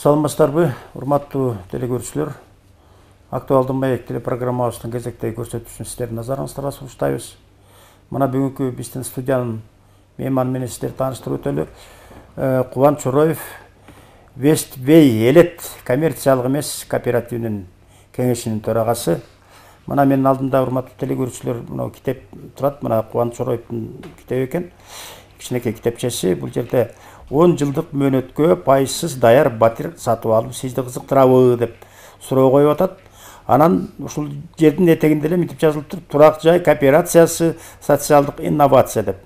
Саламатсыздарбы, урматтуу телекөрүүчүлөр. Актуалдуу маек телепрограммабыздын кезектеги көрсөтүүсүн сиздердин назарыңыздарга сунуштайбыз. Мына бүгүнкү биздин студиянын мейманы менен сиздерди тааныштырып өтөлү. Кубан Чороев, Вестбей Элет коммерциялык эмес кооперативинин кеңешинин төрагасы. Мына менин алдымда урматтуу телекөрүүчүлөр, мына китеп турат. Мына Кубан Чороевдин китеби экен. Кичинекей китепчеси. Бул жерде 10 жылдык мөөнөткө пайызсыз даяр батир сатып алып сизди кызыктырабы деп суроо коюп атат. Анан ушул жердин этегинде эле мынтип жазылып туруп, турак жай кооперациясы, социалдык инновация деп.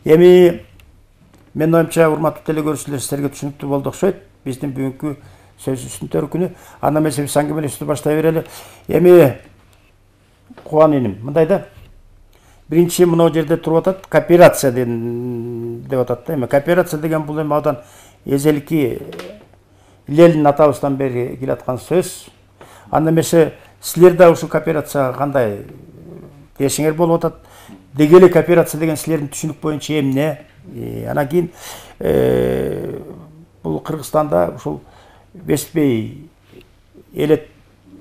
Эми мен оюмча урматтуу телекөрүүчүлөр сиздерге түшүнүктүү болду окшойт. Биздин бүгүнкү сөзүбүздүн төркүнү. Анда эмесе биз аңгемелешүүбүздү баштай берели. Эми Кубан иним, мындай да. Биринчи мына жерде туруп атат, кооперация деп атат да. Эми кооперация деген бул эми абдан эзелки Ленин атабыздан бери келаткан сөз. Анда эмесе силер да ушул кооперацияга кандай дешиңер болуп атат? Деги эле кооперация деген силердин түшүнүк боюнча эмне? Анан кийин бул Кыргызстанда ушул Вестбей Элет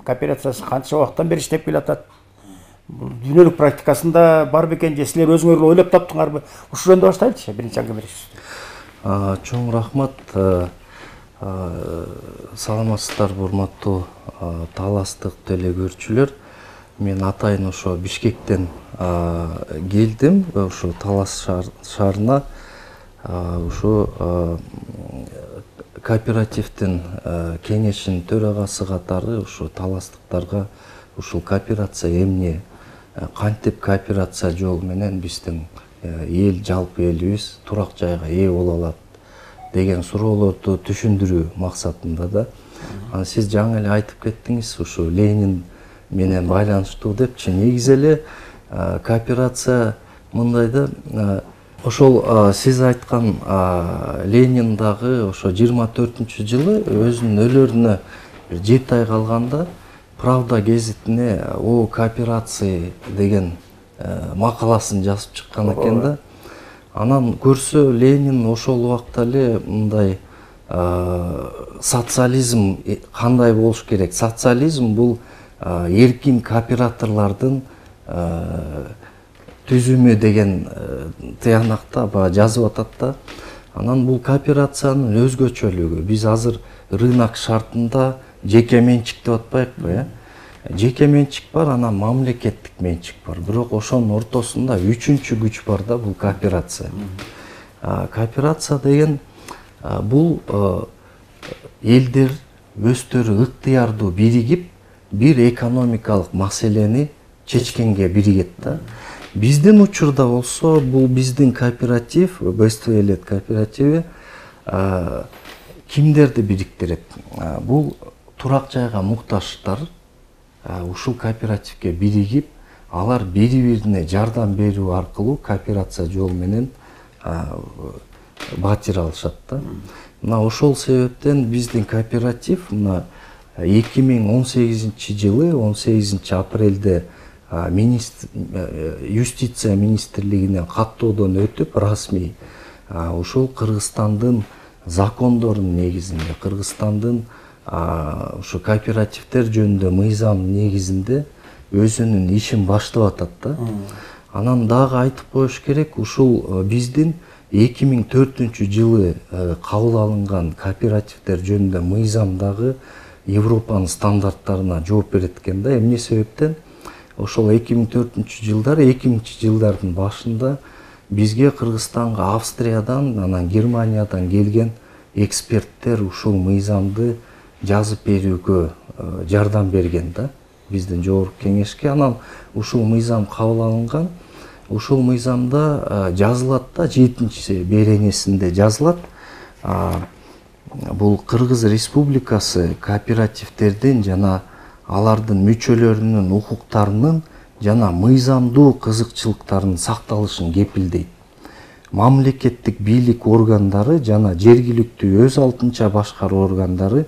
кооперациясы канча убакыттан бери иштеп келатат? Дүйнөлүк практикасында бар бекен же силер өзүңөр эле ойлоп таптыңарбы? Ушул жөнүндө баштайлычы, биринчи аңгемелешүүбүздү. Чоң рахмат. Саламатсыздарбы, урматтуу таластык телекөрүүчүлөр. Мен атайын ошо Бишкектен келдим, ошо Талас шаарына. Ушу кооперативдин кеңешинин төрагасы катары ушу таластыктарга ушул кооперация эмне, кантип кооперация жолу менен биздин эл, жалпы элибиз турак жайга ээ боло алат деген суроолорду түшүндүрүү максатында да. Сиз жаңы эле айтып кеттиңиз, ушу Ленин менен байланыштуу депчи. Негизи эле кооперация мындай да, ошол сиз айткан Ленин дагы ошо 24-жылы өзүнүн өлөрүнө 7 ай калганда Правда гезитине о кооперации деген макаласын жазып чыккан экен да. Анан көрсө Ленин ошол убакта эле мындай социализм кандай болуш керек? Социализм бул эркин кооператорлордун түзүмү деген тыянакта жазып атат да. Анан бул кооперациянын өзгөчөлүгү, биз азыр рынок шартында жеке менчик деп атпайбыкпы, жеке менчик бар, анан мамлекеттик менчик бар. Бирок ошонун ортосунда үчүнчү күч бар да, бул кооперация. Кооперация деген бул элдер өздөрү ыктыярдуу биригип, бир экономикалык маселени чечкенге биригет да. Биздин учурда болсо, бул биздин кооператив, Вестбей Элет кооперативи кимдерди бириктирет? Бул турак жайга муктаждар ушул кооперативге биригип, алар бири-бирине жардам берүү аркылуу кооперация жолу менен батир алышат да. Мына ошол себептен биздин кооператив мына 2018-жылы 18-апрелде юстиция министрлигинен каттоодон өтүп расмий ушул Кыргызстандын закондорунун негизинде, Кыргызстандын ушу кооперативдер жөнүндө мыйзам негизинде өзүнүн ишин баштап атат да. Анан дагы айтып коюш керек, ушул биздин 2004-жылы кабыл алынган кооперативдер жөнүндө мыйзам дагы Европанын стандарттарына жооп берет экен да. Эмне себептен ошол 2004-жылдары, 2000-жылдардын башында бизге Кыргызстанга Австриядан, анан Германиядан келген эксперттер ушул мыйзамды жазып берүүгө жардам берген да, биздин жогорку кеңешке. Анан ушул мыйзам кабыл алынган. Ушул мыйзамда жазылат да, 7-беренесинде жазылат. Бул Кыргыз Республикасы кооперативдердин жана алардын мүчөлөрүнүн укуктарынын жана мыйзамдуу кызыкчылыктарынын сакталышын кепилдейт. Мамлекеттик бийлик органдары жана жергиликтүү өз алдынча башкаруу органдары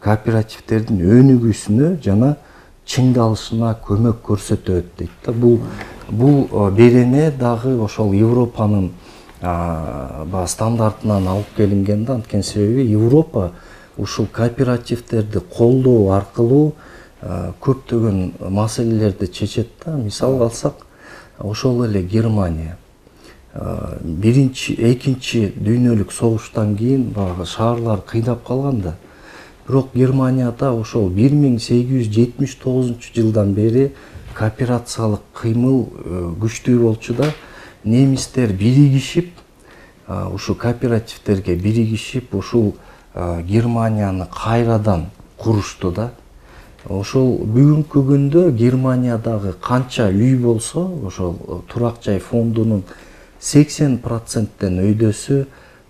кооперативдердин өнүгүүсүнө жана чыңдалышына көмөк көрсөтөт дейт да. Бул берене дагы ошол Европанын стандартынан алып келинген да. Анткени себеби Европа ушул кооперативдерди колдоо аркылуу көптөгөн маселелерди чечет да. Мисал алсак, ошол эле Германия экинчи дүйнөлүк согуштан кийин баягы шаарлар кыйнап калганда, бирок Германияда ошол 1879-жылдан бери кооперациялык кыймыл күчтүү болчу да. Немистер биригишип, ушу кооперативдерге биригишип, ушул Германияны кайрадан курушту да. Ошол бүгүнкү күндө Германиядагы канча үй болсо, ошол турак жай фондунун 80%тен өйдөсү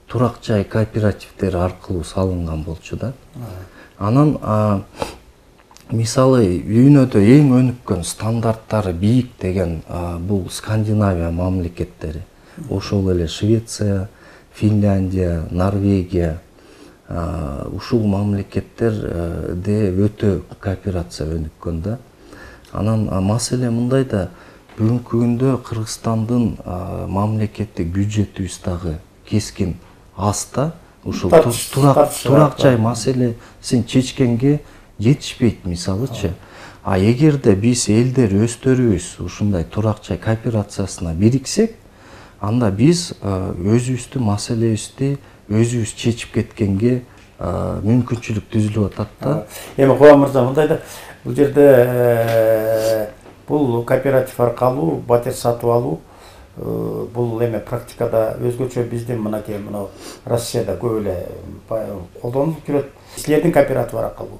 турак жай кооперативдери аркылуу салынган болчу да. Анан мисалы дүйнөдө эң өнүккөн, стандарттары бийик деген бул Скандинавия мамлекеттери. Ошол эле Швеция, Финляндия, Норвегия, ушул мамлекеттерде өтө кооперация өнүккөн да. Анан маселе мындай да, бүгүнкү күндө Кыргызстандын мамлекеттик бюджетибиз дагы кескин аз да. Ушул турак жай маселесин чечкенге жетишпейт мисалычы. Эгерде биз элдер өздөрүбүз ушундай турак жай кооперациясына бириксек, анда биз өзүбүздүн маселебизди өзүбүз чечип кеткенге мүмкүнчүлүк түзүлүп атат да. Эми Кубан мырза, мындай да, бул жерде бул кооператив аркылуу батир сатып алуу, бул эме практикада өзгөчө биздин мынакей мына Россияда көп эле колдонулуп жүрөт. Силердин кооператив аркылуу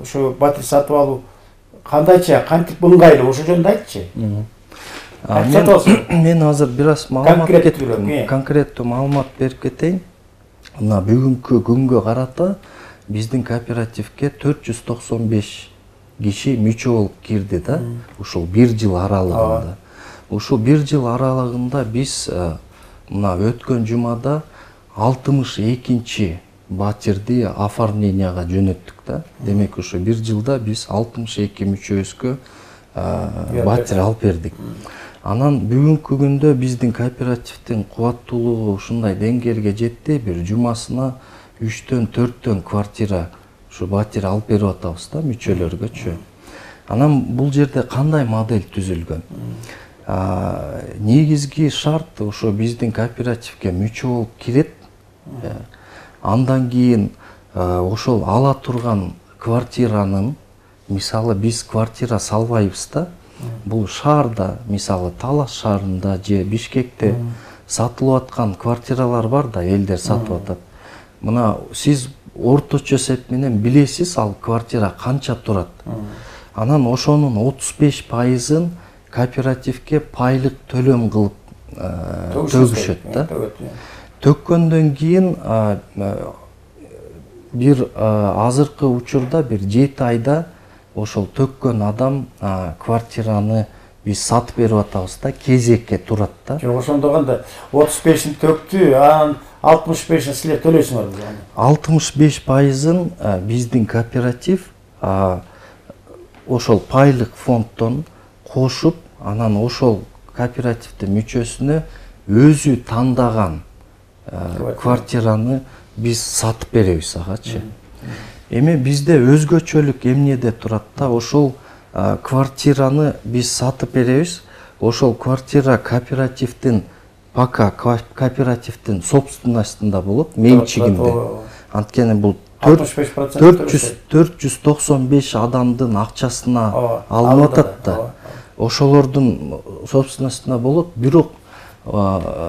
ушу батир сатып алуу кандайча, кантип ыңгайлуу, ошол жөнүндө айтчы. Мен азыр бир аз маалымат конкреттүү маалымат берип кетейин. Мына бүгүнкү күнгө карата биздин кооперативге 495 киши мүчө болуп кирди да. Ушул 1 жыл аралыгында. Ушул 1 жыл аралыгында биз мына өткөн жумада 62-чи батирди оформленияга жөнөттүк да. Демек ушу 1 жылда биз 62 мүчөбүзгө батир алып бердик. Анан бүгүнкү күндө биздин кооперативдин кубаттуулугу ушундай деңгээлге жетти, бир жумасына 3-4 квартира ушу батир алып берип атабыз да мүчөлөргөчү. Анан бул жерде кандай модель түзүлгөн? Негизги шарт ошо биздин кооперативге мүчө болуп кирет. Андан кийин ошол ала турган квартиранын, мисалы биз квартира салбайбыз да. Бул шаарда, мисалы Талас шаарында же Бишкекте сатылып аткан квартиралар бар да, элдер сатып атат. Мына сиз орточо эсеп менен билесиз ал квартира канча турат. Анан ошонун 35%-ын кооперативге пайлык төлөм кылып төгүшөт да. Төккөндөн кийин бир азыркы учурда бир 7 айда ошол төккөн адам квартираны биз сатып берип атабыз да, кезекке турат да. Жок, ошондо кандай 35-ин төктү, анан 65-ин силер төлөйсүңөрбү? 65%-ын биздин кооператив ошол пайлык фонддон кошуп, анан ошол кооперативдин мүчөсүнө өзү тандаган квартираны биз сатып беребиз агачы. Эми бизде өзгөчөлүк эмнеде турат да, ошол квартираны биз сатып беребиз. Ошол квартира кооперативдин, пока кооперативдин собственностунда болот, менчигинде. Анткени бул 495 адамдын акчасына алынып атат да. Ошолордун собственностунда болот, бирок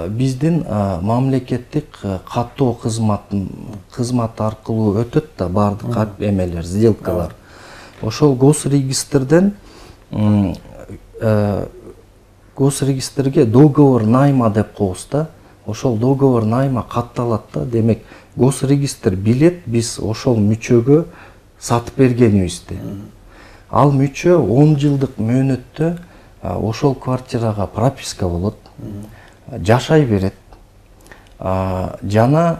биздин мамлекеттик каттоо кызмат аркылуу өтөт да баардык эмелер, сделкалар. Ошол госрегистрден госрегистрге договор найма деп коебуз да. Ошол договор найма катталат да. Демек госрегистр билет биз ошол мүчөгө сатып бергенибизди. Ал мүчө 10 жылдык мөөнөттө ошол квартирага прописка болот. Жашай берет. Жана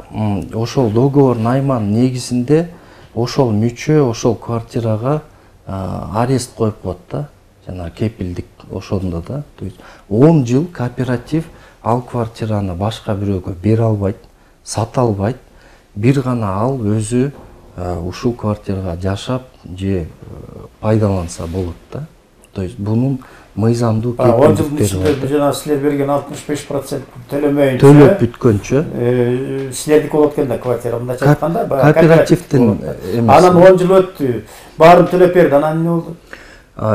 ошол договор найманын негизинде ошол мүчө ошол квартирага арест коюп коет да, жана кепилдик ошондо да. 10 жыл кооператив ал квартираны башка бирөөгө бере албайт, сата албайт. бир гана ал өзү ушул квартирага жашап же пайдаланса болот да. То есть бунун мыйзамдуу кепилдиктери бар. Жана силер берген 65% төлөмөйүнчө төлөп бүткөнчө силердики болот экен да квартира, мындайча айтканда кооперативдин эмес. Анан 10 жыл өттү, баарын төлөп берди, анан эмне болду?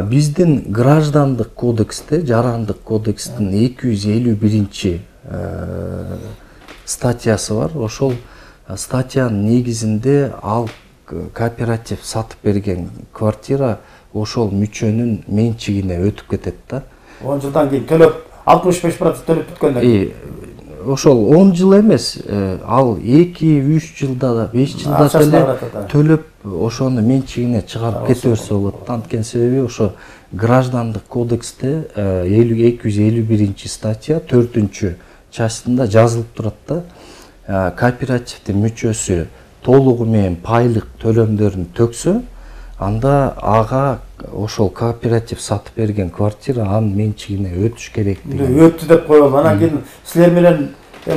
Биздин граждандык кодексте, жарандык кодекстин 251 статьясы бар. Ошол статьянын негизинде ал кооператив сатып берген квартира ошол мүчөнүн менчигине өтүп кетет да. 10 жылдан кийин төлөп 65% төлөп бүткөндөн кийин. Ошол 10 жыл эмес, ал 2-3 жылда, 5 жылда төлөп ошону менчигине чыгарып кете берсе болот. Анткени себеби ошо граждандык кодексте 251 статья 4 частында жазылып турат да. Кооперативдин мүчөсү толугу менен пайлык төлөмдөрүн төксө, анда ага ошол кооператив сатып берген квартира анын менчигине өтүш керек деген. Өттү деп коелу. Анан кийин силер менен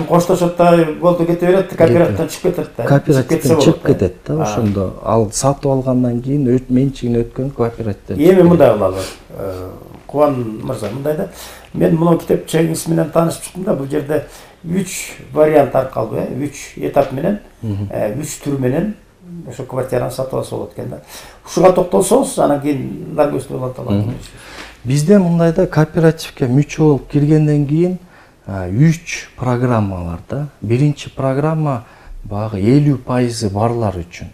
коштошот да, болду кете берет, кооперативден чыгып кетет да. Кооперативден чыгып кетет да. Ошондо ал сатып алгандан кийин менчигине өткөн кооперативден. Эми мындай кылалы. Кубан мырза, мындай да. Мен муну китепчеңиз менен таанышып чыктым да. Бул жерде 3 вариант аркалуу, 3 этап менен, 3 түр менен ошо квартираны сатып алса болот экен да. Ушуга токтолсоңуз, анан кийин наркөстү болот алат. Бизде мындай да, кооперативге мүчө болуп киргенден кийин 3 программа бар да. Биринчи программа багы 50% барлар үчүн.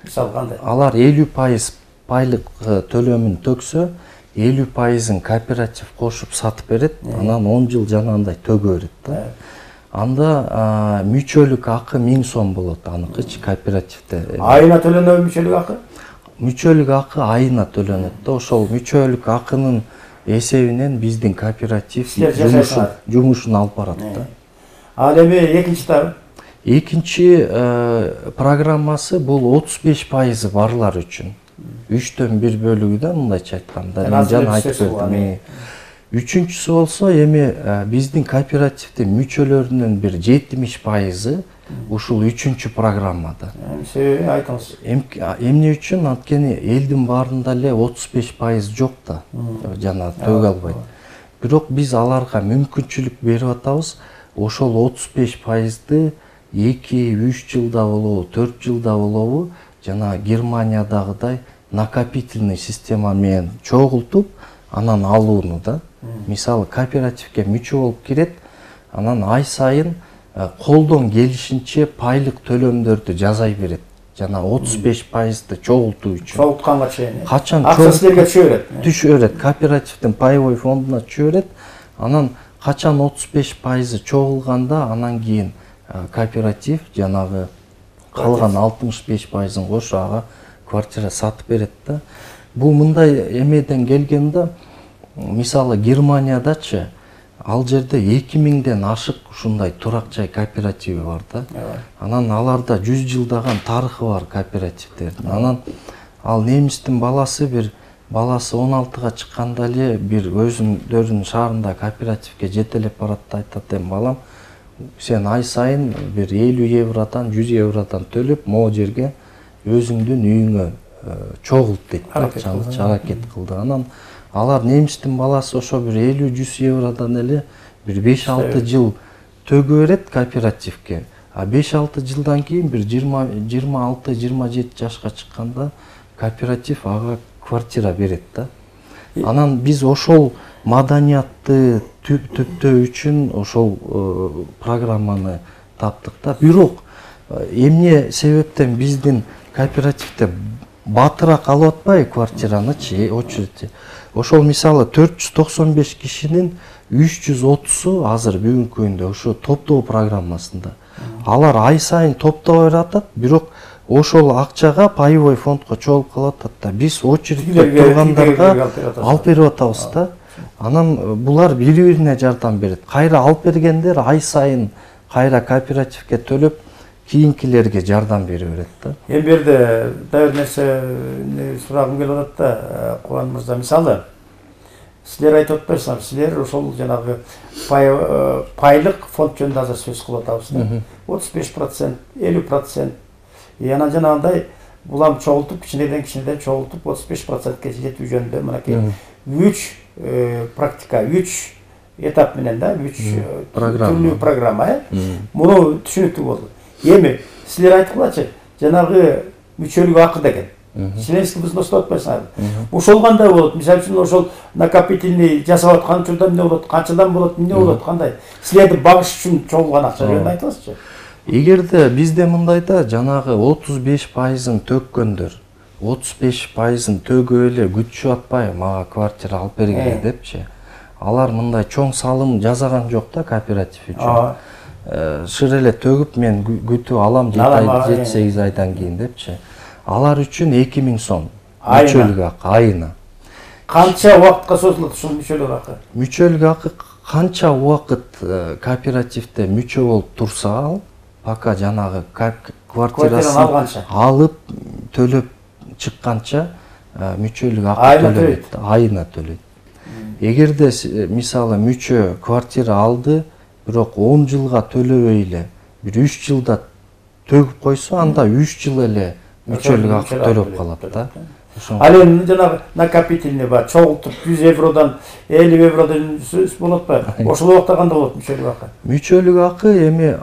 Мисалы кандай? Алар 50% пайлык төлөмүн төксө, 50%-ын кооператив кошуп сатып берет, анан 10 жыл жанагындай төгө берет да. Анда мүчөлүк акы 1000 сом болот аныкычы кооперативде. Айына төлөнөбү мүчөлүк акы? Мүчөлүк акы айына төлөнөт да. Ошол мүчөлүк акынын эсебинен биздин кооператив жумушун алып барат да. Ал эми экинчи этабы? Экинчи программасы бул 35% барлар үчүн. 3төн 1 бөлүгү да, мындайча айтканда. Мен жана айтып бердим. Үчүнчүсү болсо эми биздин кооперативдин мүчөлөрүнүн бир 70%-ы ушул 3-чү программада. Себеби айтыңыз. Эмне үчүн? Анткени элдин баарында эле 35% жок да. Жана төгө албайт. Бирок биз аларга мүмкүнчүлүк берип атабыз. Ошол 35%-ды 2-3 жылда болобу, 4 жылда болобу, жана Германиядагыдай накопительный система менен чогултуп, анан алууну да. Мисалы кооперативге мүчө болуп кирет, анан ай сайын колдон келишинче пайлык төлөмдөрдү жазай берет. Жана 35%-ды чогултуу үчүн. Чогултканга чейин. Качан акча силерге түшө берет. Түшө берет. Кооперативдин паевой фондуна түшө берет. Анан качан 35% чогулганда, анан кийин кооператив жанагы калган 65%-ын кошо ага квартира сатып берет да. Бул мындай эмеден келген да. Мисалы Германиядачы ал жерде 2000ден ашык ушундай турак жай кооперативи бар да. Анан аларда 100 жылдаган тарыхы бар кооперативдердин. Анан ал немистин баласы 16-га чыкканда эле бир өзүнүн шаарында кооперативге жетелеп барат да, айтат: "Эми балам, сен ай сайын бир 50 евродан 100 евродан төлөп могу жерге өзүңдүн үйүңө чогулт" дейт. Аракет кылды. Анан алар немистин баласы ошо бир 50-100 евродан эле бир 5-6 жыл төгө берет кооперативге. А 5-6 жылдан кийин бир 26-27 жашка чыкканда кооператив ага квартира берет да. Анан биз ошол маданиятты түптөө үчүн ошол программаны таптык да. Бирок эмне себептен биздин кооперативде батыраак алып атпайбы квартиранычы, очередь. Ошол мисалы 495 кишинин 330-у азыр бүгүнкү күндө ошо топтоо программасында. Алар ай сайын топтоо берип атат, бирок ошол акчага паевой фондко чогулуп калып атат да. Биз очередьте тургандарга алып берип атабыз да. Анан булар бири-бирине жардам берет. Кайра алып бергендер ай сайын кайра кооперативге төлөп кийинкилерге жардам бере берет да. Эми берде дагы бир нерсе сурагым келип атат да, Кубан мырза. Мисалы силер айтып атпайсыңар, силер ошол жанагы пайлык фонд жөнүндө азыр сөз кылып атабыз да. 35%, 50%. Анан жанагындай булам чогултуп, кичинеден чогултуп 35%ке жетүү жөнүндө мынакей 3 практика, 3 этап менен да, 3 түрлүү программа. Муну түшүнүктүү болду. Эми силер айткылачы, жанагы мүчөлүк акы деген. Членский взнос деп атпайсыңар. Ошол кандай болот? Мисалы үчүн ошол накопительный жасап аткан учурда эмне болот? Канчадан болот? Эмне болот? Кандай? Силерди багыш үчүн чогулган акча жөнүндө айтыңызчы. Эгерде бизде мындайда жанагы 35%-ын төккөндөр 35%-ын төгүп эле күтүшүп атпайбы, мага квартира алып бергиле депчи. Алар мындай чоң салым жасаган жок да кооператив үчүн. Шыр эле төгүп мен күтүп алам 7-8 айдан кийин депчи. Алар үчүн 2000 сом мүчөлүк акы айына. Канча убакытка созулат ушул мүчөлүк акы? Мүчөлүк акы канча убакыт кооперативде мүчө болуп турса ал, пока жанагы квартирасын алып төлөп чыкканча мүчөлүк акы төлөйт, айына төлөйт. Эгерде мисалы мүчө квартира алды, бирок 10 жылга төлөбөй эле, бир 3 жылда төгүп койсо, анда 3 жыл эле мүчөлүк акы төлөп калат да. Ал эми жанагы накопительный бар, чогултуп 100 евродан 50 евродан болот ба? Ошол убакта кандай болот мүчөлүк акы? Мүчөлүк акы эми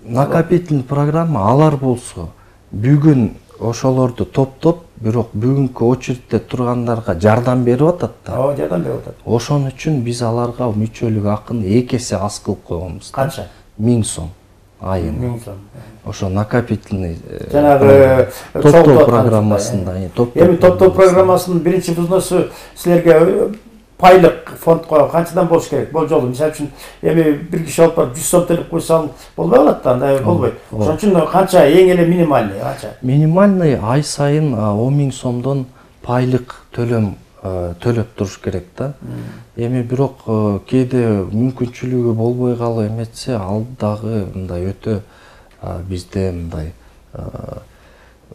накопительный программа алар болсо бүгүн ошолорду топтоп, бирок бүгүнкү очередде тургандарга жардам берип атат да. Ооба, жардам берип атат. Ошон үчүн биз аларга мүчөлүк акыны 2 эсе аз кылып койгонбуз. Канча? 1000 сом айына. 1000 сом. Ошо накопительный жанагы топтоо программасында. Эми топтоо программасынын биринчи взносу силерге пайлык фондко канчадан болуш керек? Болжолу, мисалы үчүн эми бир киши алып барып 100 сом төлөп койсо болбой калат да, андай болбойт. Ошон үчүн канча эң эле минимальный канча? Минимальный ай сайын 10.000 сомдон пайлык төлөп туруш керек да. Эми бирок кээде мүмкүнчүлүгү болбой калып эметсе, ал дагы мындай өтө бизде мындай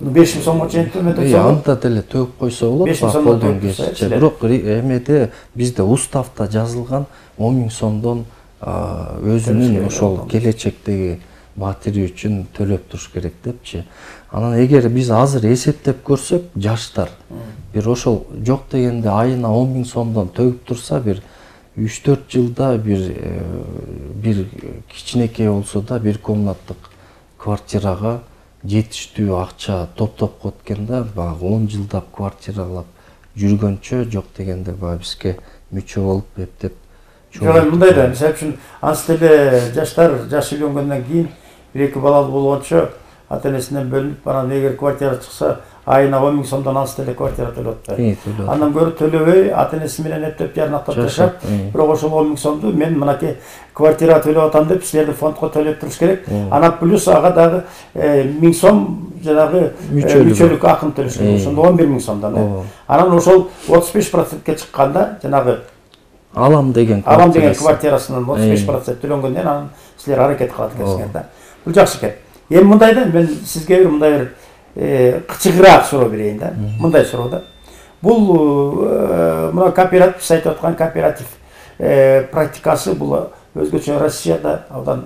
5000 сомго чейин төмөтөксө, анда деле төгүп койсо болот, колдон келишинче. Бирок эмеде бизде уставда жазылган 10.000 сомдон өзүнүн ошол келечектеги батири үчүн төлөп туруш керек депчи. Анан эгер биз азыр эсептеп көрсөк, жаштар бир ошол жок дегенде айына 10.000 сомдон төгүп турса, бир 3-4 жылда бир кичинекей болсо да бир комнаттык квартирага жетиштүү акча топтоп коет экен да, баягы 10 жылдап квартиралап жүргөнчө жок дегенде баягы бизге мүчө болуп эптеп. Жок, мындай да, мисалы үчүн анс деле жаштар жаш үйлөнгөндөн кийин 1-2 балалуу болгончо ата-энесинен бөлүнүп, анан эгер квартира чыкса, айына 10.000 сомдон анс деле квартира төлөп атпайбы. Андан көрө төлөбөй, ата-энеси менен эптеп жарнактап жашап, бирок ошол 10.000 сомду мен мынакей квартира төлөп атам деп силерди фондко төлөп туруш керек. Анан плюс ага дагы 1000 сом жанагы мүчөлүк акын төлөш керек. Ошондо 11.000 сомдон. Анан ошол 35%ке чыкканда жанагы алам деген квартирасынан 35% төлөнгөндөн анан силер аракет кылат экенсиңер да. Бул жакшы экен. Эми мындай да, мен сизге бир мындай бир кычыгыраак суроо берейин да. Мындай суроо да. Бул мына кооператив, сиз айтып аткан кооператив практикасы бул өзгөчө Россияда абдан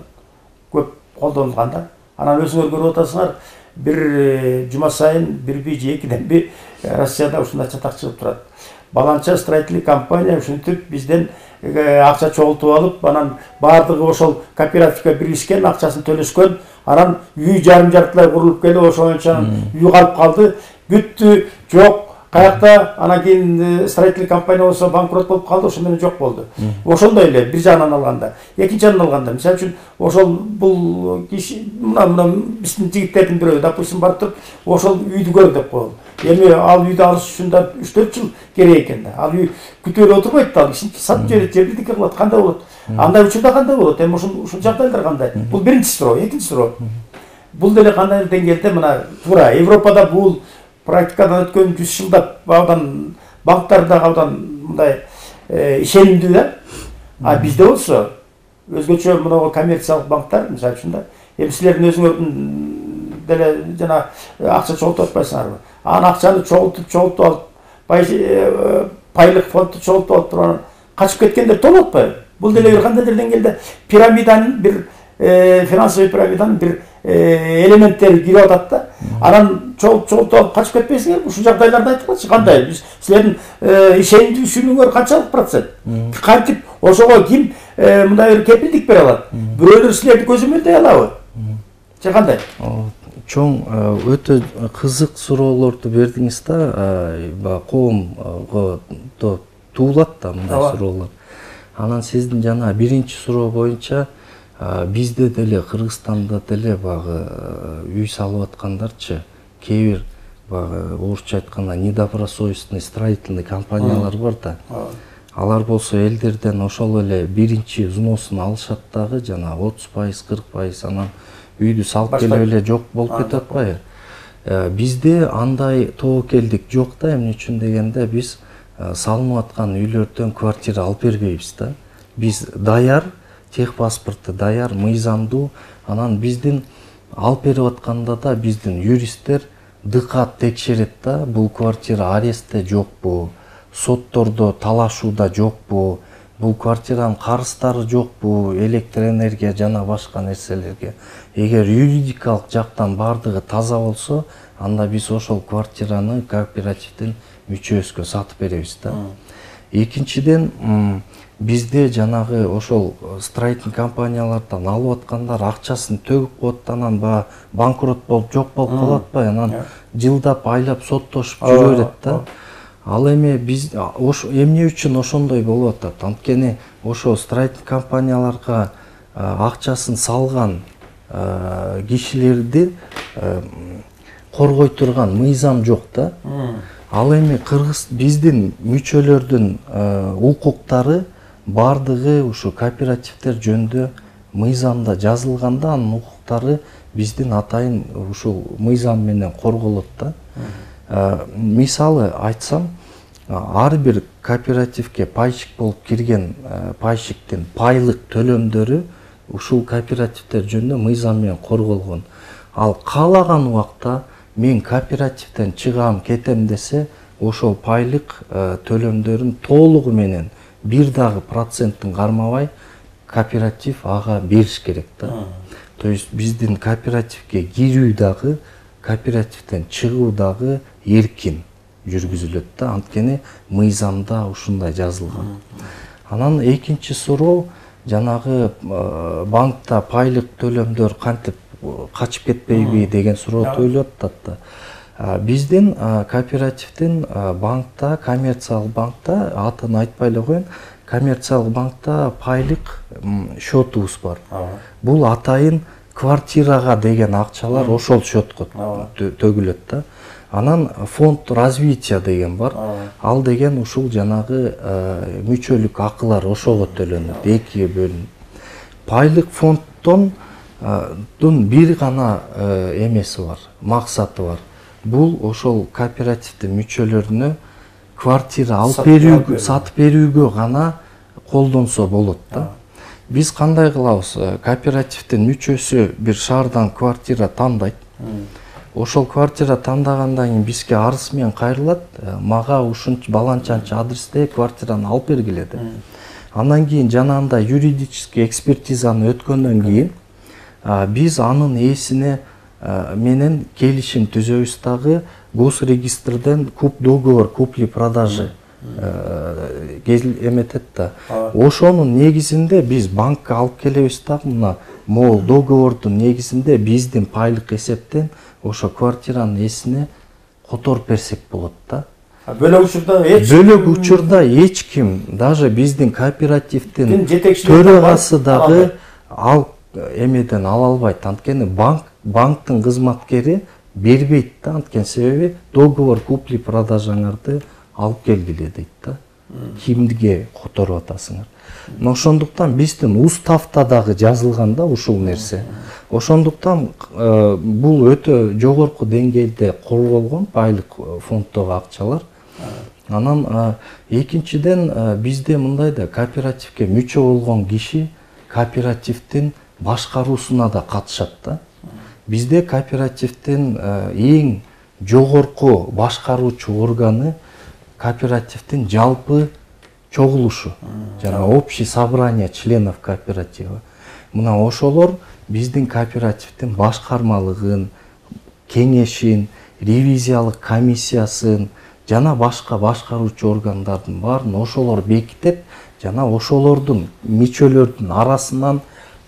көп колдонулган да. Анан өзүңөр көрүп атасыңар, бир жума сайын бирби же экиденби Россияда ушундай чатак чыгып турат. Баланча строительный компания ушинтип бизден акча чогултуп алып, анан баардыгы ошол кооперативге биришкен, акчасын төлөшкөн, анан үй жарым-жартылай курулуп келип, ошончо үй калып калды, бүттү, жок, каякта, анан кийин строительный компания болсо банкрот болуп калды, ошо менен жок болду. Ошондой эле бир жагынан алганда, экинчи жагынан алганда, мисалы үчүн ошол бул киши мына биздин жигиттердин бирөө, допустим, барып туруп, ошол үйдү көр деп коелу. Эми ал үйдү алыш үчүн да 3-4 жыл керек экен да. Ал үй күтүп эле отурбайт да, ал кишинчи сатып жиберет, же бирдеке кылат, кандай болот? Андай учурда кандай болот? Эми ушул жагдайлар кандай? Бул биринчи суроо, экинчи суроо. Бул деле кандай деңгээлде мына туура Европада бул практикадан өткөн 100 жылдап абдан банктар да абдан мындай ишенимдүү да. А бизде болсо өзгөчө мына коммерциялык банктар, мисалы үчүн да, эми силердин өзүңөрдүн деле жана акча чогултуп атпайсыңарбы? Анан акчаны чогултуп алып, пайлык фондду чогултуп алып турган качып кеткендер толуп атпайбы? Бул деле бир кандайдыр деңгээлде пирамиданын бир финансовый пирамиданын бир элементтери кирип атат да. Анан чогултуп алып качып кетпейсиңер. Ушул жагдайларды айтып кандай? Биз силердин ишенимдүүлүгүңөр канчалык процент? Кантип ошого ким мындай бир кепилдик бере алат? Бирөөлөр силерди көзөмөлдөй алабы? Же кандай? Чоң өтө кызык суроолорду бердиңиз да. Коомго туулат да мындай суроолор. Анан сиздин жана биринчи суроо боюнча бизде деле Кыргызстанда деле багы үй салып аткандарчы кээ бир багы орусча айтканда недобросовестный строительный компаниялар бар да. Алар болсо элдерден ошол эле биринчи взносун алышат дагы, жана 30%, 40%, анан үйдү салып келип эле жок болуп кетип атпайбы? Бизде андай тобокелдик жок да. Эмне үчүн дегенде биз салынып аткан үйлөрдөн квартира алып бербейбиз да. Биз даяр, техпаспорту даяр, мыйзамдуу. Анан биздин алып берип атканда да биздин юристтер дыкат текшерет да, бул квартира арестте жокпу, соттордо талашууда жокпу, бул квартиранын карыздары жокпу, электр энергия жана башка нерселерге. Эгер юридикалык жактан бардыгы таза болсо, анда биз ошол квартираны кооперативдин мүчөсүгө сатып беребиз да. Экинчиден, бизде жанагы ошол строительный компаниялардан алып аткандар акчасын төгүп коет, анан банкрот болуп жок болуп калып атпайбы? Анан жылдап, айлап соттошуп жүрө берет да. Ал эми биз эмне үчүн ошондой болуп атат? Анткени ошо строительный компанияларга акчасын салган кишилерди коргой турган мыйзам жок да. Ал эми биздин мүчөлөрдүн укуктары бардыгы ушу кооперативдер жөнүндө мыйзамда жазылганда, анын укуктары биздин атайын ушул мыйзам менен корголот да. Мисалы айтсам, ар бир кооперативге пайщик болуп кирген пайщиктин пайлык төлөмдөрү ушул кооперативдер жөнүндө мыйзам менен корголгон. Ал каалаган убакта мен кооперативден чыгам, кетем десе, ошол пайлык төлөмдөрүн толугу менен бир дагы процентин кармабай кооператив ага бериш керек да. То есть биздин кооперативге кирүү дагы, кооперативден чыгуу дагы эркин жүргүзүлөт да. Анткени мыйзамда ушундай жазылган. Анан экинчи суроо, жанагы банкта пайлык төлөмдөр кантип качып кетпейби деген суроо ойлоп атат да. Биздин кооперативдин банкта, коммерциялык банкта, атын айтпай эле коеюн, коммерциялык банкта пайлык счетубуз бар. Бул атайын квартирага деген акчалар ошол счетко төгүлөт да. Анан фонд развития деген бар. Ал деген ушул жанагы мүчөлүк акылар ошого төлөнөт, экиге бөлүнүп. Пайлык фонддон бир гана эмеси бар, максаты бар. Бул ошол кооперативдин мүчөлөрүнө квартира алып берүүгө, сатып берүүгө гана колдонсо болот да. Биз кандай кылабыз? Кооперативдин мүчөсү бир шаардан квартира тандайт. Ошол квартира тандагандан кийин бизге арыз менен кайрылат. Мага ушунча баланчанча адресте квартираны алып бергиле деп. Андан кийин жанагындай юридический экспертизаны өткөндөн кийин биз анын ээсине менен келишим түзөбүз дагы, госрегистрден договор купли-продажи эметет да. Ошонун негизинде биз банкка алып келебиз дагы, мына могул договордун негизинде биздин пайлык эсептен ошо квартиранын ээсине которуп берсек болот да. Бөлөк учурда эч ким, даже биздин кооперативдин төрагасы дагы ал эмеден ала албайт. Анткени банктын кызматкери бербейт да. Анткени себеби договор купли-продажаңарды алып келгиле дейт да. Кимге которуп атасыңар. Ошондуктан биздин уставда дагы жазылган да ушул нерсе. Ошондуктан бул өтө жогорку деңгээлде корголгон пайлык фонддогу акчалар. Анан экинчиден бизде мындай да, кооперативге мүчө болгон киши кооперативдин башкаруусуна да катышат да. Бизде кооперативдин эң жогорку башкаруучу органы кооперативдин жалпы чогулушу, жана общий собрание членов кооператива. Мына ошолор биздин кооперативдин башкармалыгын, кеңешин, ревизиялык комиссиясын жана башка башкаруучу органдардын баарын ошолор бекитип, жана ошолордун мүчөлөрдүн арасынан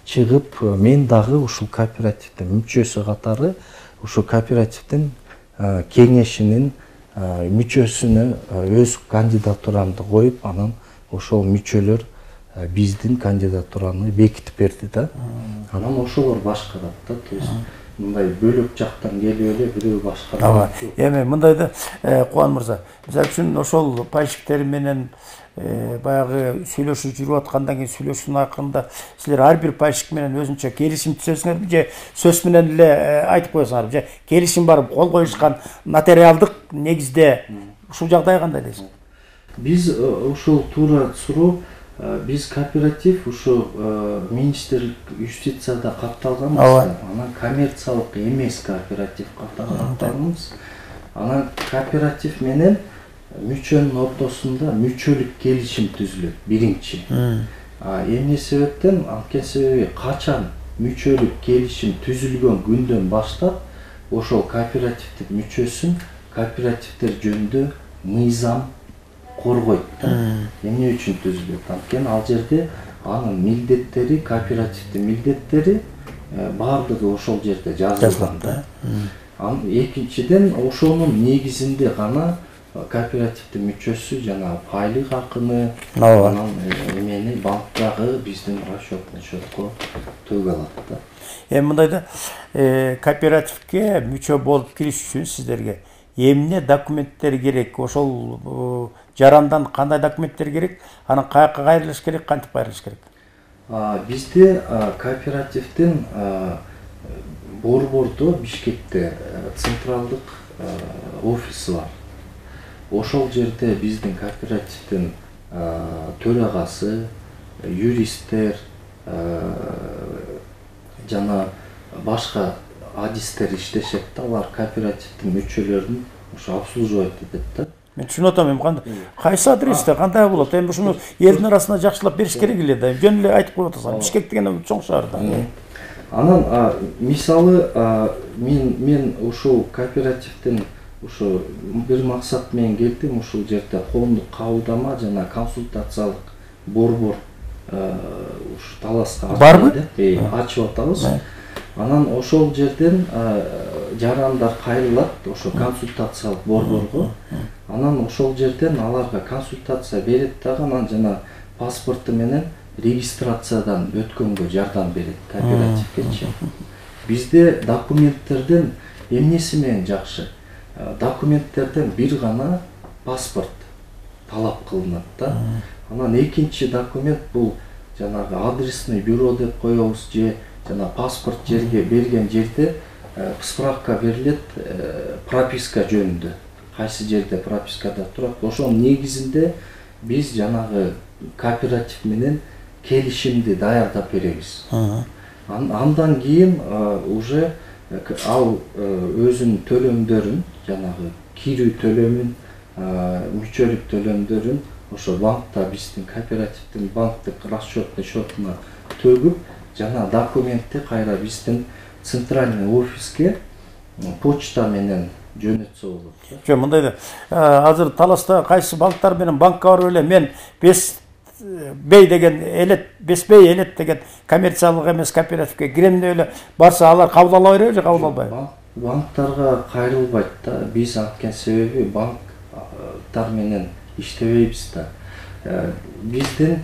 чыгып, мен дагы ушул кооперативдин мүчөсү катары ушул кооперативдин кеңешинин мүчөсүнө өз кандидатурамды коюп, анан ошол мүчөлөр биздин кандидатураны бекитип берди да. Анан ошолор башкарат да. То есть мындай бөлөк жактан келип эле бирөө башкарат. Эми мындайда Кубан мырза, мисалы үчүн ошол пайщиктер менен баягы сүйлөшүп жүрүп аткандан кийин сүйлөшүүнүн акырында силер ар бир пайщик менен өзүнчө келишим түзөсүңөрбү же сөз менен эле айтып коесуңарбы же келишим барып кол коюшкан нотариалдык негизде ушул жагдай кандай дейсиз? Биз ушул туура суроо, биз кооператив ушу министрлик юстицияда катталганбыз, анан коммерциялык эмес кооператив катталганбыз. Анан кооператив менен мүчөнүн ортосунда мүчөлүк келишим түзүлөт биринчи. Эмне себептен? Анткени себеби качан мүчөлүк келишим түзүлгөн күндөн баштап ошол кооперативдин мүчөсүн кооперативдер жөнүндө мыйзам коргойт. Эмне үчүн түзүлөт? Анткени ал жерде анын милдеттери, кооперативдин милдеттери баардыгы ошол жерде жазылган да. Экинчиден, ошонун негизинде гана кооперативдин мүчөсү жана пайлык акыны, анан эмени банктагы биздин расчетный счетко төгө алат да. Эми мындайда кооперативге мүчө болуп кириш үчүн сиздерге эмне документтер керек? Ошол жарандан кандай документтер керек? Анан каяка кайрылыш керек, кантип кайрылыш керек? Бизде кооперативдин Борбордо, Бишкекте централдык офиси бар. Ошол жерде биздин кооперативдин төрагасы, юристтер жана башка адистер иштешет да. Алар кооперативдин мүчөлөрүн ошо обслуживать этет да. Мен түшүнүп атам, эми кайсы адресте кандай болот? Эми ушуну элдин арасында жакшылап бериш керек эле да. Жөн эле айтып коюп атасың. Бишкек деген чоң шаар да. Анан мисалы мен ушул кооперативдин ушу бир максат менен келдим. Ушул жерде коомдук кабылдама жана консультациялык борбор ушу Таласка барбы? Ачып атабыз. Анан ошол жерден жарандар кайрылат ошо консультациялык борборго. Анан ошол жерден аларга консультация берет дагы, анан жана паспорту менен регистрациядан өткөнгө жардам берет кооперативгечи. Бизде документтерден эмнеси менен жакшы? Документтерден бир гана паспорт талап кылынат да. Анан экинчи документ бул жанагы адресный бюро деп коебуз же жана паспорт жерге берген жерде справка берилет прописка жөнүндө. Кайсы жерде пропискада турат, ошонун негизинде биз жанагы кооператив менен келишимди даярдап беребиз. Андан кийин уже ал өзүнүн төлөмдөрүн, жанагы кирүү төлөмүн, мүчөлүк төлөмдөрүн ошо банкта биздин кооперативдин банктык расчетный счетуна төгүп, жана документти кайра биздин центральный офиске почта менен жөнөтсө болот. Жо, мындайда азыр Таласта кайсы банктар менен банкка барып эле мен Бесбей деген элет, Бесбей элет деген коммерциялык эмес кооперативге кирем деп эле барса алар кабыл ала береби же кабыл албайбы? Банктарга кайрылбайт да. Биз анткени себеби банктар менен иштебейбиз да. Биздин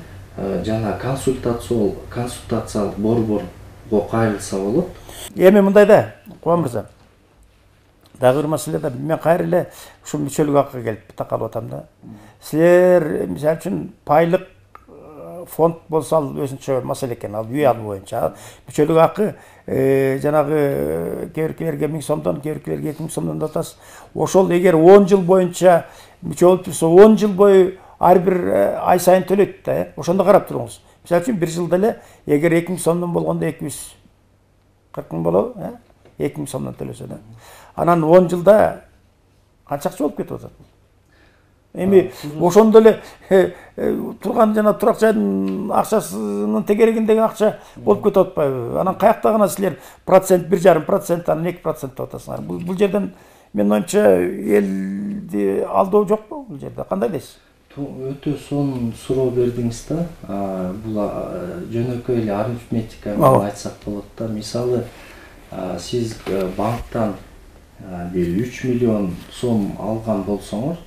жана консультациялык борборго кайрылса болот. Эми мындайда, Кубан мырза, дагы бир маселе да, мен кайра эле ушул мүчөлүк акыга келип такалып атам да. Силер мисалы үчүн пайлык фонд болсо ал өзүнчө маселе экен, ал үй алуу боюнча. Мүчөлүк акы жанагы кээ-биркилерге 1000 сомдон, кээ-биркилерге 2000 сомдон да атасыз. Ошол эгер 10 жыл боюнча мүчө болуп турса, 10 жыл бою ар бир ай сайын төлөйт да. Ошондо карап туруңуз. Мисалы үчүн бир жылда эле эгер 2000 сомдон болгондо 240 000 болобу, 2000 сомдон төлөсө да. Анан 10 жылда канча акча болуп кетип атат? Эми ошондо эле турган жана турак жайдын акчасынын тегерегиндеги акча болуп кетип атпайбы? Анан каякта гана силер процент 1,5%, анан 2% деп атасыңар. Бул жерден менин оюмча элди алдоо жокпу бул жерде? Кандай дейсиз? Өтө сонун суроо бердиңиз да. Бул жөнөкөй эле арифметика менен айтсак болот да. Мисалы, сиз банктан бир 3 миллион сом алган болсоңор,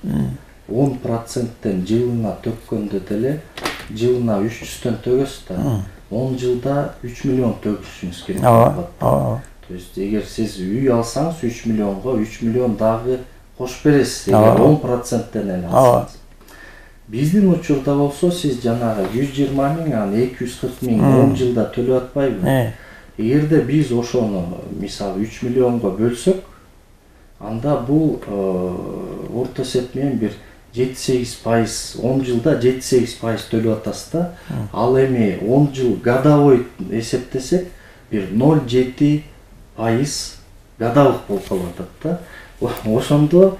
10%тен жылына төккөндө деле жылына 300төн төгөсүз да. 10 жылда 3 миллион төгүшүңүз керек болот. То есть эгер сиз үй алсаңыз 3 миллионго 3 миллион дагы кошуп бересиз, эгер 10%тен эле алсаңыз. Биздин учурда болсо сиз жанагы 120 миң, анан 240 миң 10 жылда төлөп атпайбы? Эгерде биз ошону мисалы 3 миллионго бөлсөк, анда бул орто эсеп менен бир 7-8%, 10 жылда 7-8% төлөп атасыз да. Ал эми 10 жыл годовой эсептесек, бир 0,7% годовых болуп калып атат да. Ошондо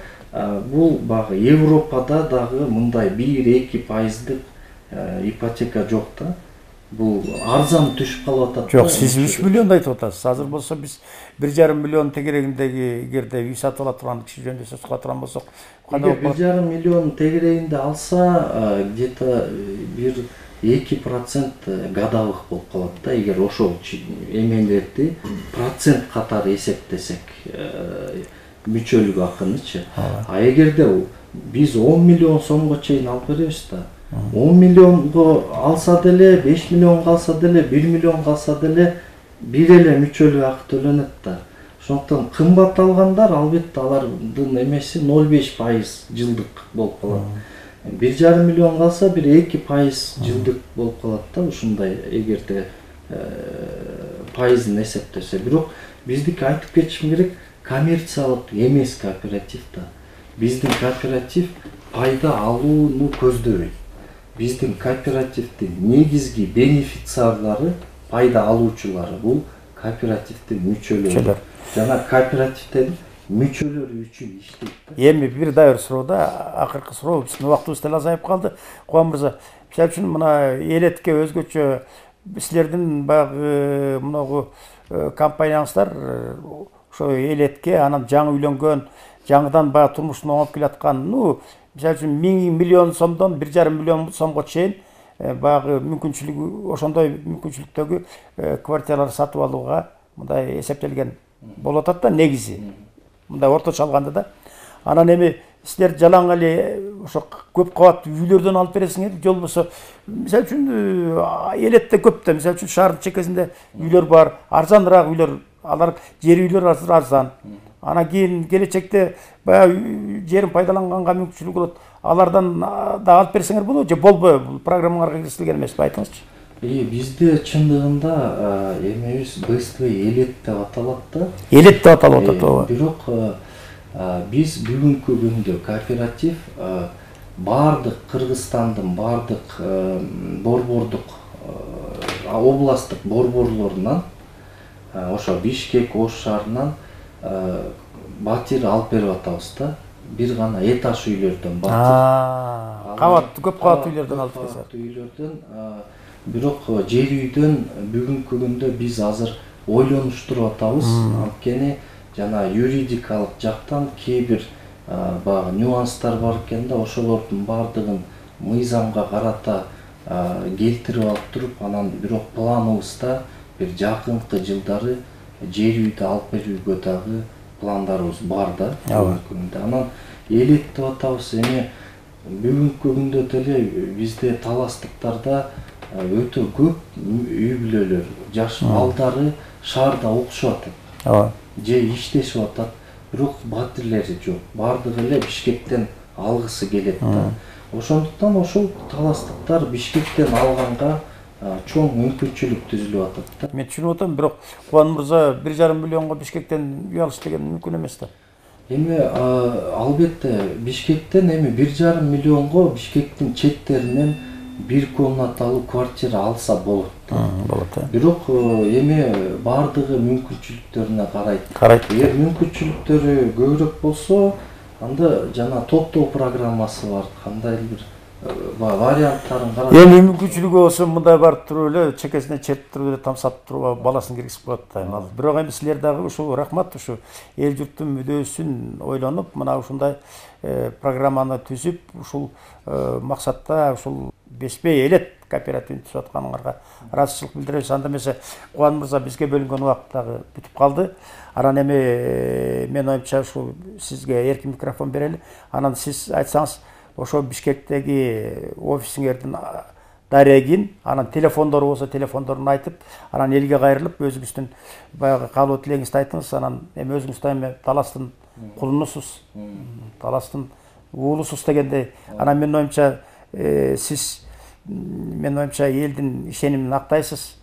бул багы Европада дагы мындай 1-2% ипотека жок да. Бул арзан түшүп калып атат. Жок, сиз 3 миллион айтып атасыз. Азыр болсо биз 1,5 миллион тегерегиндеги эгерде үй сатып ала турган киши жөнүндө сөз кыла турган болсок, кандай болот? 1,5 миллион тегерегинде алса, где-то 1-2% годовых болуп калат да. Эгер ошол эмелерди процент катары эсептесек, мүчөлүк акынычы. А эгерде биз 10 миллион сомго чейин алып беребиз да. 10 миллионго алса деле, 5 миллионго алса деле, 1 миллионго алса деле бир эле мүчөлүк акы төлөнөт да. Ошондон кымбат алгандар албетте алардын эмеси 0,5% жылдык болуп калат. 1,5 миллионго алса бир 2% жылдык болуп калат да. Ушундай эгерде пайызын эсептесе. Бирок биздики айтып кетишим керек, коммерциялык эмес кооператив да. Биздин кооператив пайда алууну көздөбөйт. Биздин кооперативдин негизги бенефициарлары, пайда алуучулары бул кооперативдин мүчөлөрү. Жана кооперативдин мүчөлөрү үчүн иштейт да. Эми бир дагы бир суроо да, акыркы суроо, биздин убактыбыз деле азайып калды. Кубан мырза, мисалы үчүн мына элетке өзгөчө силердин баягы мынагу компанияңыздар ошо элетке, анан жаңы үйлөнгөн, жаңыдан баягы турмушун оңоп келаткан, мисалы үчүн 1 миллион сомдон 1,5 миллион сомго чейин баягы мүмкүнчүлүгү, ошондой мүмкүнчүлүктөгү квартиралар сатып алууга мындай эсептелген болуп атат да, негизи. Мындай орточо алганда да. Анан эми силер жалаң эле ошо көп кабаттуу үйлөрдөн алып бересиңер, же болбосо мисалы үчүн элетте көп да, мисалы үчүн шаардын чекесинде үйлөр бар, арзаныраак үйлөр, алар жер үйлөр азыр арзан. Анан кийин келечекте баягы жерин пайдаланганга мүмкүнчүлүк болот. Алардан да алып берсеңер болобу же болбойбу? Бул программаңарга киргизилген эмеспи, айтыңызчы. Бизде чындыгында эмебиз БСТ элет деп аталат да. Элет деп аталып атат, ооба. Бирок биз бүгүнкү күндө кооператив бардык Кыргызстандын бардык борбордук областтык борборлорунан, ошо Бишкек, Ош шаарынан батир алып берип атабыз да. Бир гана этаж үйлөрдөн батир. Кабаттуу, көп кабаттуу үйлөрдөн алып келсек. Кабаттуу үйлөрдөн, бирок жер үйдөн бүгүнкү күндө биз азыр ойлонуштуруп атабыз. Анткени жана юридикалык жактан кээ бир баягы нюанстар бар экен да, ошолордун бардыгын мыйзамга карата келтирип алып туруп, анан бирок планыбызда бир жакынкы жылдары жер үйдү алып берүүгө дагы пландарыбыз бар да. Анан элет деп атабыз. Эми бүгүнкү күндө деле бизде таластыктарда өтө көп үй бүлөлөр, жаш балдары шаарда окушуп атат. Же иштешип атат, бирок батирлери жок. Бардыгы эле Бишкектен алгысы келет да. Ошондуктан ошол таластыктар Бишкектен алганга чоң мүмкүнчүлүк түзүлүп атат да. Мен түшүнүп атам, бирок Кубан мырза 1,5 миллионго Бишкектен үй алыш деген мүмкүн эмес да. Эми албетте Бишкектен эми 1,5 миллионго Бишкектин четтеринен бир комнаталуу квартира алса болот. Болот да. Бирок эми бардыгы мүмкүнчүлүктөрүнө карайт. Эгер мүмкүнчүлүктөрү көбүрөөк болсо, анда жана топтоо программасы бар, кандай бир варианттарын карап. Эми мүмкүнчүлүгү болсо мындай барып туруп эле чекесине чертип туруп эле тамсап туруп баласын киргизип коет да. Бирок эми силер дагы ушу рахмат, ушу эл журттун мүдөөсүн ойлонуп, мына ушундай программаны түзүп, ушул максатта ушул беспей элет кооперативин түзүп атканыңарга ыраазычылык билдиребиз. Анда эмесе Кубан мырза, бизге бөлүнгөн убакыт дагы бүтүп калды. Анан эми мен оюмча ушу сизге эркин микрофон берели. Анан сиз айтсаңыз, ошо Бишкектеги офисиңердин дарегин, анан телефондору болсо телефондорун айтып, анан элге кайрылып, өзүңүздүн баягы каалоо тилегиңизди айтыңыз. Анан эми өзүңүз да эми таластын кулунусуз, таластын уулусуз дегендей. Анан менин оюмча сиз элдин ишенимин актайсыз.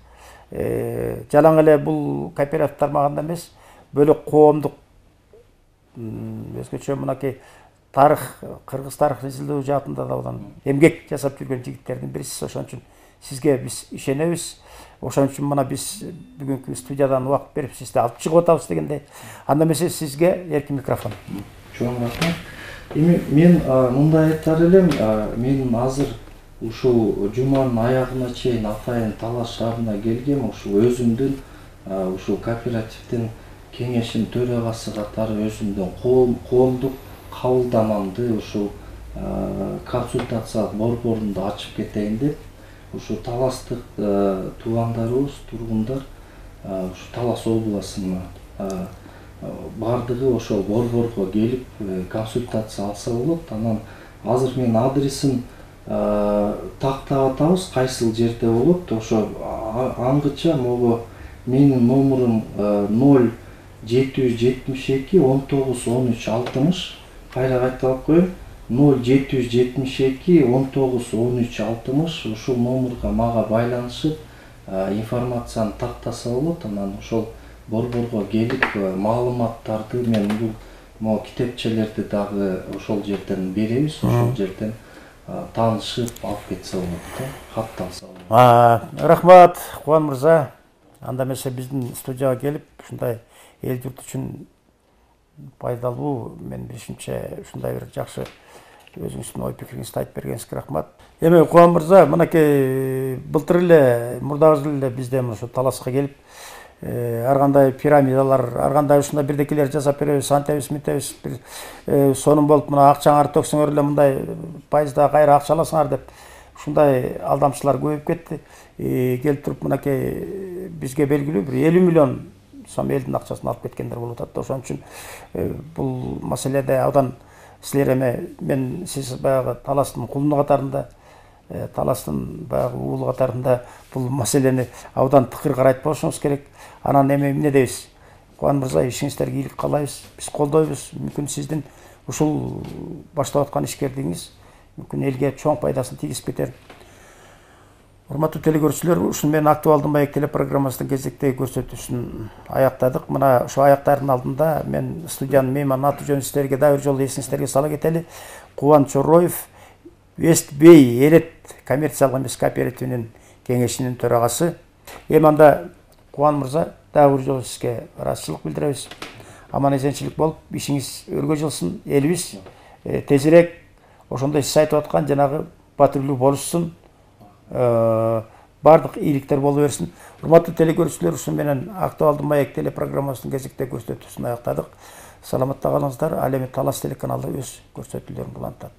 Жалаң эле бул кооператив тармагында эмес, бөлөк коомдук өзгөчө мынакей тарых, кыргыз тарыхын изилдөө жаатында да эмгек жасап жүргөн жигиттердин бирисиз. Ошон үчүн сизге биз ишенебиз. Ошон үчүн мына биз бүгүнкү студиядан убакыт берип сизди алып чыгып атабыз дегендей. Анда эмесе сизге эркин микрофон. Чоң рахмат. Эми мен мындай айтар элем, мен азыр ушул жуманын аягына чейин атайын Талас шаарына келгем. Ушул өзүмдүн ушул кооперативдин кеңешинин төрагасы катары өзүмдүн коомдук кабылдамамды ушул консультациялык борборунду ачып кетейин деп, ушул таластык туугандарыбыз, тургундар ушу Талас областына бардыгы ошол борборго келип консультация алса болот. Анан азыр мен адресин тактап атабыз, кайсыл жерде болот. Ошо аңгыча могу менин номурум 0772 19 13 60. Кайра кайталап коеюн. 0772 19 13 60. Ушул номурга мага байланышып информацияны тактаса болот. Анан ошол борборго келип маалыматтарды мен бул китепчелерди дагы ошол жерден беребиз. Ошол жерден таанышып алып кетсе болот да, кат алса болот. Рахмат Кубан мырза. Анда эмесе биздин студияга келип ушундай эл журт үчүн пайдалуу, мен билишимче ушундай бир жакшы өзүңүздүн ой пикириңизди айтып бергениңизге рахмат. Эми Кубан мырза, мынакей былтыр эле, мурдагы жыл эле бизде ушу Таласка келип, ар кандай пирамидалар, ар кандай ушундай бирдекелер жасап беребиз, антебиз, мынтебиз, бир сонун болуп мына акчаңарды төксөңөр эле мындай пайызда кайра акча аласыңар деп ушундай алдамчылар көбөйүп кетти. Келип туруп мынакей бизге белгилүү бир 50 миллион сом элдин акчасын алып кеткендер болуп атат. Ошон үчүн бул маселеде абдан силер эми мен сиз баягы Таластын кулуну катарында, Таластын баягы уулу катарында бул маселени абдан тыкыр карайт болушуңуз керек. Анан эми эмне дейбиз? Кубан мырза, ишиңиздерге ийгилик каалайбыз. Биз колдойбуз. Мүмкүн сиздин ушул баштап аткан ишкердигиңиз мүмкүн элге чоң пайдасын тийгизип кетер. Урматтуу телекөрүүчүлөр, ушун менен актуалдуу маек телепрограммасынын кезектеги көрсөтүүсүн аяктадык. Мына ошо аяктардын алдында мен студиянын мейманы аты жөнүн сиздерге дагы бир жолу эсиңиздерге сала кетели. Кубан Чороев, Вестбей элет коммерциялык эмес кооперативинин кеңешинин төрагасы. Эми анда Кубан мырза, дагы бир жолу сизге ыраазычылык билдиребиз. Аман эсенчилик болуп, ишиңиз өргө жылсын, элибиз тезирээк ошондой сиз айтып аткан жанагы патрулдуу болушсун. Бардык ийгиликтер боло берсин. Урматтуу телекөрүүчүлөр, ушу менен актуалдуу маек телепрограммасынын кезектеги көрсөтүүсүн аяктадык. Саламатта калыңыздар. Ал эми Талас телеканалы өз көрсөтүүлөрүн улантат.